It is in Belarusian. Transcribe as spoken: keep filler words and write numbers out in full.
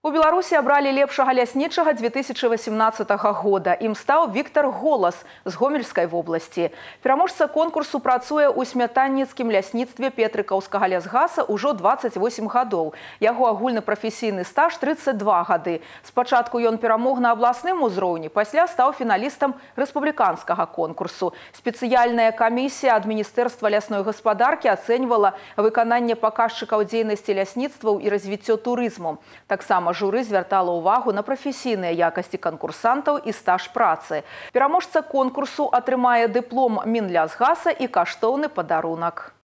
У Беларусі абралі лепшага ляснічага две тысячи восемнадцатага года. Ім стаў Віктор Голас з Гомельскай вобласці. Пераможца конкурсу працуе ў смятанніцкім лясніцтве Петрыкаўскага лясгаса ўжо дваццаць восем гадоў. Яго агульны прафесійны стаж тридцать два гады. Спачатку ён перамог на абласным узроўні, пасля стаў фіналістам рэспубліканскага конкурсу. Спецыяльная камісія ад Міністэрства лясной гаспадаркі ацэньвала выкананне паказчыкаў дзейнасці лясніцтваў і развіццё турызму. Таксама журы звяртала ўвагу на прафесійныя якасці канкурсантаў і стаж працы. Пераможца конкурсу атрымае дыплом Мінлясгаса і каштоўны падарунак.